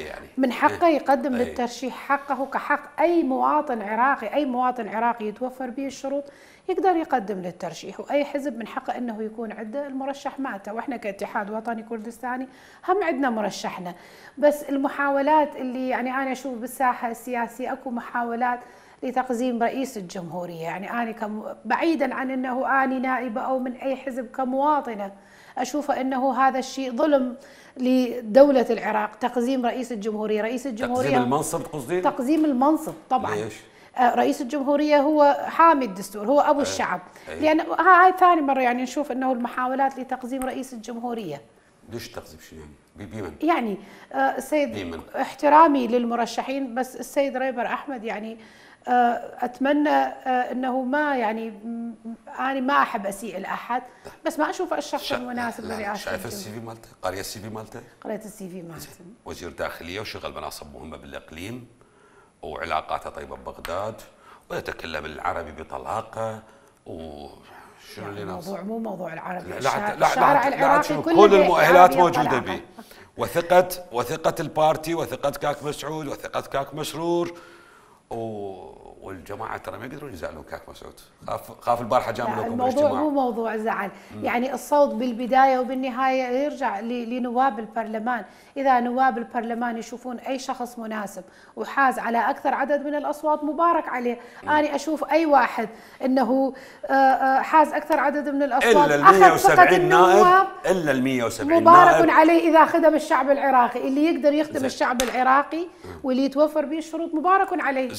يعني من حقه يقدم للترشيح، حقه كحق أي مواطن عراقي، أي مواطن عراقي يتوفر به الشروط يقدر يقدم للترشيح، وأي حزب من حقه أنه يكون عنده المرشح مالته، وإحنا كاتحاد وطني كردستاني هم عندنا مرشحنا. بس المحاولات اللي يعني أنا أشوف بالساحة السياسية أكو محاولات لتقزيم رئيس الجمهورية، يعني أنا بعيدا عن أنه أنا نائبة أو من أي حزب، كمواطنة أشوف أنه هذا الشيء ظلم لدولة العراق. تقزيم رئيس الجمهورية، رئيس الجمهورية تقزيم المنصب تقصدين؟ تقزيم المنصب طبعا. ليش؟ رئيس الجمهورية هو حامي الدستور، هو أبو الشعب. لأن هاي ثاني مرة يعني نشوف أنه المحاولات لتقزيم رئيس الجمهورية. ليش تقزيم شنو يعني؟ بمن؟ يعني السيد احترامي للمرشحين، بس السيد ريبر أحمد يعني أتمنى أنه ما يعني أنا ما أحب أسيء لأحد، بس ما أشوف الشخص المناسب لرئاسة. شايف السي في مالته؟ قارية السي في مالته؟ قريت السي في مالته. وزير داخلية وشغل مناصب مهمة بالإقليم وعلاقاته طيبة ببغداد ويتكلم العربي بطلاقة وشنو اللي ناقص؟ الموضوع مو موضوع العربي، الشارع العراقي كل المؤهلات موجودة به، وثقة البارتي وثقة كاك مسعود وثقة كاك مسرور والجماعه ترى ما يقدرون يزعلون كاك مسعود. خاف البارحه جامل لكم الموضوع مو موضوع زعل، يعني الصوت بالبدايه وبالنهايه يرجع لنواب البرلمان. اذا نواب البرلمان يشوفون اي شخص مناسب وحاز على اكثر عدد من الاصوات مبارك عليه. انا اشوف اي واحد انه حاز اكثر عدد من الاصوات الا ال 170 نائب، الا ال 170 مبارك عليه اذا خدم الشعب العراقي. اللي يقدر يخدم الشعب العراقي واللي يتوفر به الشروط مبارك عليه.